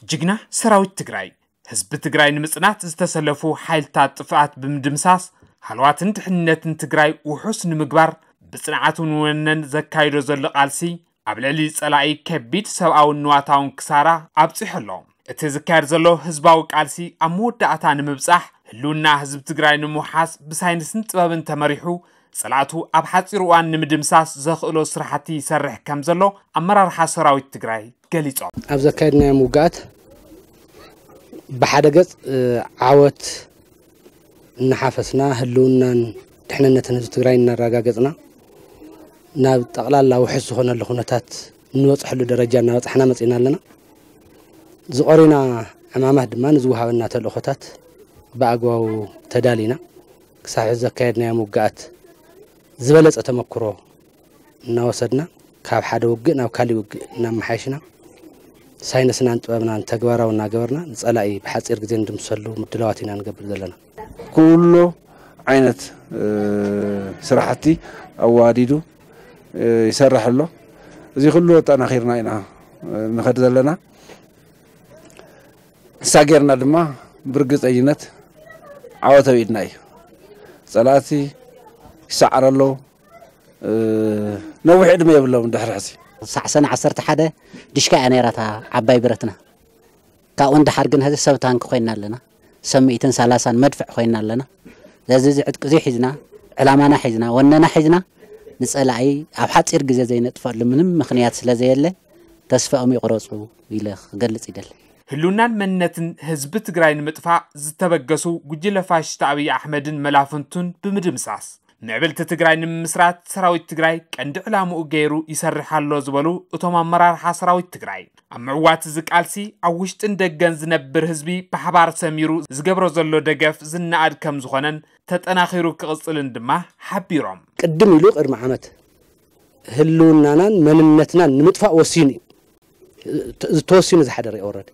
ጅግና ሰራዊት ትግራይ፣ ህዝቢ ትግራይ ንምጽናት ዝተሰለፉ ሓይልታት ጥፍኣት ብምድምሳስ፣ ሃለዋትን ድሕንነትን ትግራይ ውሑስ ንምግባር ብጽንዓትን ወነን ዘካይዶ ዘሎ ቃልሲ፣ ኣብ ልዕሊ ጸላኢ ከቢድ ሰብኣውን ንዋታውን ክሳራ ኣብጺሑ ኣሎ። እቲ ዝካየድ ዘሎ ህዝባዊ ቃልሲ ኣብ መወዳእታ ንምብጻሕ፣ ህልውና ህዝቢ ትግራይ ንምውሓስ ብሳይንስን ጥበብን ተመሪሑ፣ ጸላእቱ ኣብ ሓጺር እዋን ንምድምሳስ ዘኽእሎ ስራሕቲ ይሰርሕ ከም ዘሎ ኣመራርሓ ሰራዊት ትግራይ ገሊጾም። ኣብ ዘካየድናዮም ውግኣት ብሓደ ገጽ ዓወት እናሓፈስና፣ ህልውናን ድሕንነትን ህዝቢ ትግራይ እናረጋገጽና፣ ናብ ጠቕላላ ውሕስ ዝኾነሉ ኩነታት እንበጽሐሉ ደረጃ እናበጻሕና መጺእና ኣለና። ዝቐሩና ዕማማት ድማ ንዝወሃበና ተልእኾታት ብኣግባቡ ተዳሊና፣ ክሳብ ሕዚ ዘካየድናዮም ውግኣት ዝበለጸ ተመክሮ እናወሰድና፣ ካብ ሓደ ውግእ ናብ ካሊእ ውግእ እናመሓየሽና፣ ሳይንስናን ጥበብናን ተግባራዊ እናገበርና፣ ንጸላኢ ብሓጺር ግዜ ንድምሰሉ ምድላዋት ኢና ንገብር ዘለና። ኩሉ ዓይነት ስራሕቲ ኣዋዲዱ ይሰርሕ ኣሎ። እዚ ኩሉ ኣጠናኺርና ኢና ንኸድ ዘለና። ንሳ ጌርና ድማ ብርግፀኝነት ዓወት ኣብ ኢድና እዩ። ፀላእቲ ይሰዓሩ ኣለዉ። ነዊሕ ዕድመ የብሎም ድሕሪ ሕዚ። ሳዕ ሰነ ዓሰርተ ሓደ ድሽካ እያ ነይራታ ዓባይ ብረትና። ካብኡ ንደሓር ግን ሕዚ ሰብ ታንክ ኮይና ኣለና። ሰብ ሚእትን ሰላሳን መድፍዕ ኮይና ኣለና። ስለዚ እዚ ዕጥቂ እዚ ሒዝና፣ ዕላማና ሒዝና፣ ወነና ሒዝና፣ ንጸላኢ ኣብ ሓጺር ግዜ ዘይነጥፈሉ ምንም ምኽንያት ስለ ዘየለ፣ ተስፋኦም ይቕረጹ ኢለ ክገልጽ ይደሊ። ህልውናን መንነትን ህዝቢ ትግራይ ንምጥፋእ ዝተበገሱ ጉጅለ ፋሽስት ኣብይ ኣሕመድን መላፍንቱን ብምድምሳስ፣ ምዕብልቲ ትግራይ ንምምስራት ሰራዊት ትግራይ ቀንዲ ዕላምኡ ገይሩ ይሰርሕ ኣሎ ዝበሉ እቶም ኣመራርሓ ሰራዊት ትግራይ፣ ኣብ ምዕዋት እዚ ቃልሲ ኣብ ውሽጥን ደገን ዝነብር ህዝቢ ብሓባር ሰሚሩ ዝገብሮ ዘሎ ደገፍ ዝነኣድ ከም ዝኾነን ተጠናኺሩ ክቕፅልን ድማ ሓቢሮም። ቅድም ኢሉ ቅድሚ ዓመት ህልውናናን መንነትናን ንምጥፋእ ወሲኑ እዩ። ተወሲኑ ዝሓደረ እዩ ኦረዲ።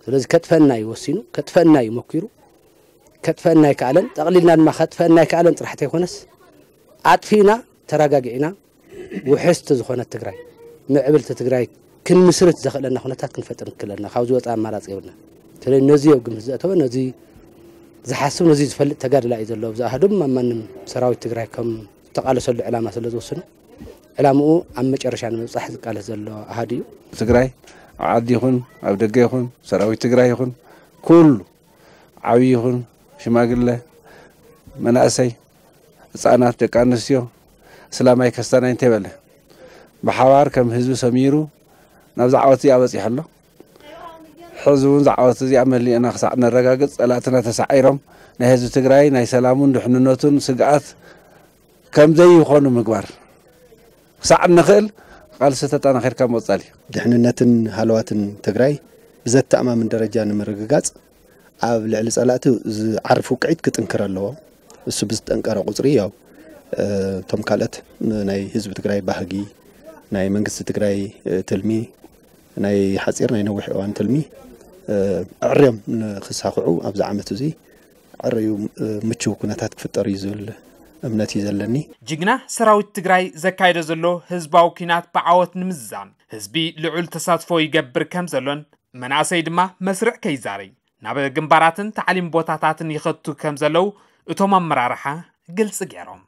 ስለዚ ከጥፈና እዩ ወሲኑ፣ ከጥፈና እዩ መኪሩ፣ ከጥፈና ኣይከኣለን። ጠቕሊልና ድማ ከጥፈና ኣይከኣለን ጥራሕ ተይኮነስ፣ ኣጥፊእና ተረጋጊዕና ውሕስቲ ዝኾነት ትግራይ፣ ምዕብልቲ ትግራይ ክንምስርት ዘኽእለና ኩነታት ክንፈጥር ንክእለና ካብ ዝወፀ ኣማራፂ የብልና። ስለዚ ነዚ ኣብ ግምት ዘእተወ፣ ነዚ ዝሓስብ፣ ነዚ ዝፈልጥ ተጋድላ እዩ ዘሎ። ኣብዚ ኣህዱም ኣብ ማንም ሰራዊት ትግራይ ከም ዝተቓለሰሉ ዕላማ ስለ ዝወስኑ፣ ዕላምኡ ኣብ መጨረሻ ንምብፃሕ ዝቃለስ ዘሎ ኣሃዱ እዩ። ትግራይ ኣብ ዓዲ ይኹን ኣብ ደገ ይኹን ሰራዊት ትግራይ ይኹን ኩሉ ዓብዪ ይኹን ሽማግለ፣ መናእሰይ፣ ህፃናት፣ ደቂ ኣንስትዮ፣ እስላማይ ከስታናይ እንተይበለ ብሓባር ከም ህዝቢ ሰሚሩ ናብዚ ዓወት እዚኣ በፂሑ ኣሎ። ሕዚ እውን ዝዓወት እዚኣ መሊእና ክሳዕ ነረጋግፅ ጸላእትና ተሳዒሮም ናይ ህዝቢ ትግራይ ናይ ሰላሙን ድሕንነቱን ስግኣት ከም ዘይኾኑ ምግባር ክሳዕ እንኽእል ቃልሲ ተጠናኺርካ ምቕጻል እዩ። ድሕንነትን ሃለዋትን ትግራይ ብዘተኣማምን ደረጃ ንምርግጋጽ ኣብ ልዕሊ ጸላእቲ ዝዓርፍ ውቅዒት ክጥንክር ኣለዎ። እሱ ብዝጠንቀረ ቁጽሪ ያው እቶም ካልኦት ናይ ህዝቢ ትግራይ ባህጊ፣ ናይ መንግስቲ ትግራይ ትልሚ፣ ናይ ሓፂር ናይ ነዊሕ እዋን ትልሚ ኣዕርዮም ንክሳኽዑ ኣብዚ ዓመት እዚ ኣዕርዩ ምችው ኩነታት ክፍጠር እዩ ዝብል እምነት እዩ ዘለኒ። ጅግና ሰራዊት ትግራይ ዘካየዶ ዘሎ ህዝባዊ ኲናት ብዓወት ንምዝዛም ህዝቢ ልዑል ተሳትፎ ይገብር ከም ዘሎን መናእሰይ ድማ መስርዕ ከይዛረይ ናብ ግንባራትን ታዕሊም ቦታታትን ይኸቱ ከም ዘለዉ እቶም ኣመራርሓ ግልፂ ገይሮም።